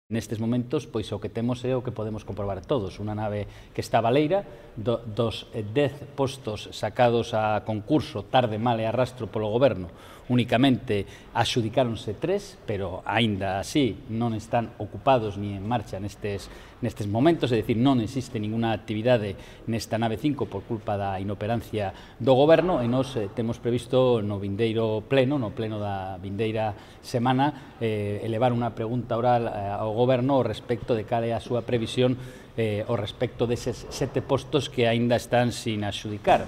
Nestes momentos, pois o que temos é o que podemos comprobar todos, unha nave que está baleira, dos 10 postos sacados a concurso tarde, mal e arrastro polo goberno, únicamente axudicáronse 3, pero aínda así non están ocupados ni en marcha nestes momentos, é dicir, non existe ninguna actividade nesta nave 5 por culpa da inoperancia do goberno e nos temos previsto no vindeiro pleno, no pleno da vindeira semana, elevar unha pregunta oral ao goberno ao respecto de cal é a súa previsión ao respecto deses 7 postos que aínda están sin axudicar.